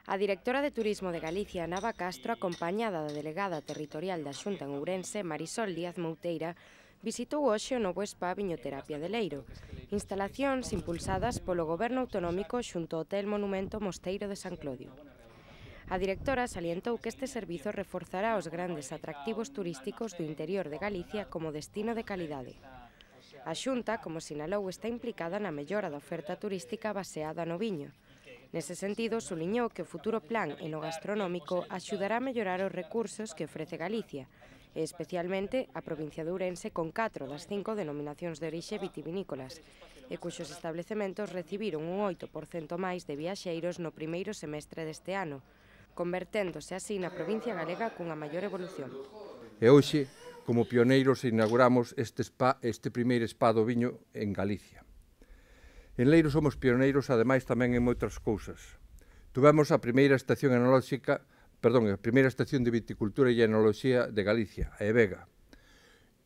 A directora de Turismo de Galicia, Nava Castro, acompañada da delegada territorial da Xunta en Ourense, Marisol Díaz Mouteira, visitou hoxe o novo spa Viñoterapia de Leiro, instalacións impulsadas polo Goberno Autonómico xunto ao Hotel Monumento Mosteiro de San Clodio. A directora salientou que este servizo reforzará os grandes atractivos turísticos do interior de Galicia como destino de calidade. A Xunta, como sinalou, está implicada na mellora da oferta turística baseada no viño. Nese sentido, suliñou que o futuro plan enogastronómico axudará a mellorar os recursos que ofrece Galicia, e especialmente a provincia de Ourense con 4 das 5 denominacións de orixe vitivinícolas, e cuxos establecementos recibiron un 8% máis de viaxeiros no primeiro semestre deste ano, converténdose así na provincia galega cunha maior evolución. E hoxe, como pioneiros, inauguramos este primeiro spa do viño en Galicia. En Leiro somos pioneiros, ademais, tamén en moitas cousas. Tuvemos a primeira estación a primeira estación de viticultura e enoloxía de Galicia, a EVEGA,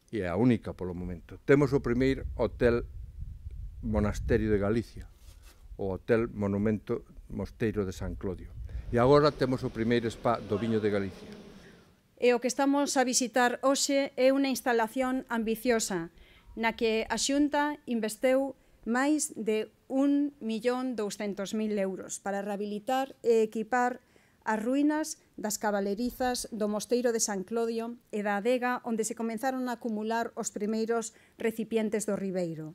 e a única polo momento. Temos o primeiro hotel monasterio de Galicia, o Hotel Monumento Mosteiro de San Clodio. E agora temos o primeiro spa do viño de Galicia. E o que estamos a visitar hoxe é unha instalación ambiciosa na que a Xunta investeu máis de 1.200.000 euros para rehabilitar e equipar as ruínas das cabalerizas do Mosteiro de San Clodio e da adega onde se comenzaron a acumular os primeiros recipientes do Ribeiro.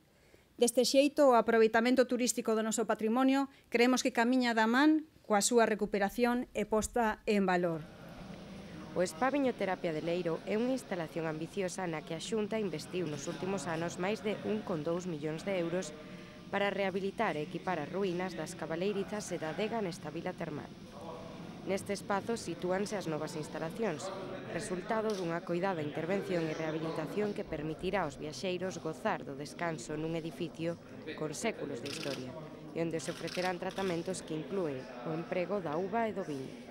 Deste xeito, o aproveitamento turístico do noso patrimonio creemos que camiña da man coa súa recuperación e posta en valor. O Spa Viñoterapia de Leiro é unha instalación ambiciosa na que a Xunta investiu nos últimos anos máis de 1,2 millóns de euros para rehabilitar e equipar as ruínas das cabaleirizas e da adega nesta vila termal. Neste espazo sitúanse as novas instalacións, resultado dunha coidada intervención e rehabilitación que permitirá aos viaxeiros gozar do descanso nun edificio con séculos de historia e onde se ofrecerán tratamentos que inclúen o emprego da uva e do viño.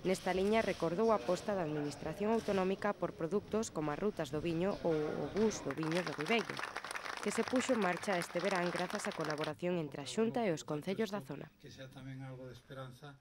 Nesta liña recordou a aposta da Administración Autonómica por produtos como as rutas do viño ou o bus do viño do Ribeiro, que se puxo en marcha este verán grazas á colaboración entre a Xunta e os concellos da zona. Que sea tamén algo de esperanza